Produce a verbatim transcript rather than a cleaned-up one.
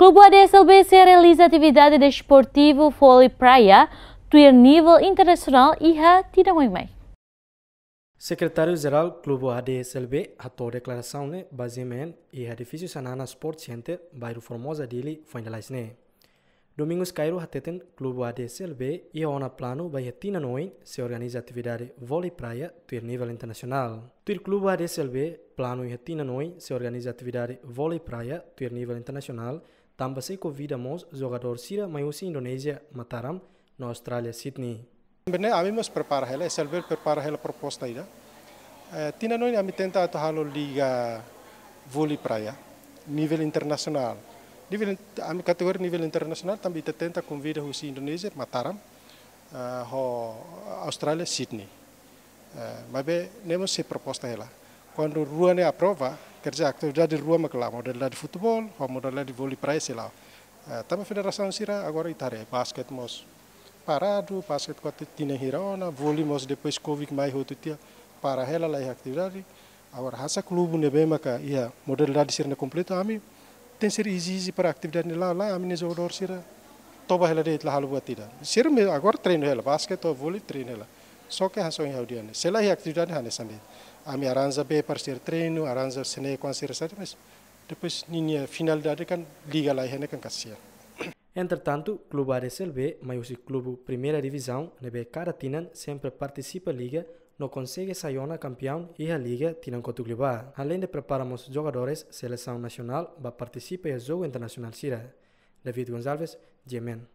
Klubu A D S L B sei realiza atividade desportivu vólei praia tuir nivel internasionál iha tinan oin mai. Sekretáriu Jerál Klubu A D S L B hato'o deklarasaun ne'e bazeia iha edifísiu Xanana Sport Center, bairru Formosa, Dili, foin lalais ne'e. Domingos Cairo hateten Klubu A D S L B iha ona planu ba iha tinan oin sei organiza atividade vólei praia tuir nivel internasionál. Tuir Klubu A D S L B, planu iha tinan oin sei organiza atividade vólei praia tuir nivel internasionál, tanba sei konvida mós jogadór sira mai husi Indonézia, Mataram, no Austrália, Sydney. Bene, ami mós prepara hela, S L B prepara hela proposta ida. Eh, tinan oin ami tenta atu halo liga vólei praia nivel internasionál. Nivel in-, ami kategoria nivel internasionál, tanba ita tenta konvida husi Indonézia, Mataram, eh, ho Austrália, Sydney. Eh, maibé ne'e mós sei proposta hela. Kuandu rua ne'e aprova, quer dizer, atividade rua mak la'o, modalidade futeból, ho modalidade vólei praia sei la'o. Eh, tanba federasaun sira agora ita haree, basket mós paradu, basket kuandu tinan hira ona, vólei mós depois Covid mai hotu tiha, para hela laiha atividade. Agora, hanesan klubu ne'ebé maka iha modalidade sira-ne'e kompletu, ami tenke ezije para atividade ne'e la'o, la'o, ami-nia jogadór sira toba hela de'it, la halo buat ida. Sira-ne'e agora treinu hela, basket ou vólei treinu hela. Só ke hanesan ohin ha'u dehan ne'e, se laiha atividade hanesan de'it. Ami arranja bee para sira treinu, arranja sene kuan sira sadi, mas depois ninia finalidade kan liga laiha ne'e kan kasian. Entretantu, Klubu A D S L B mai husi klubu Primeira Divizaun ne'ebé kada tinan sempre partisipa liga no konsege sai ona kampiaun iha liga tinan kotuk liubá. Aleinde prepara mós jogadores selesaun nasionál ba partisipa iha jogu internasionál sira. David Gonçalves, G M N.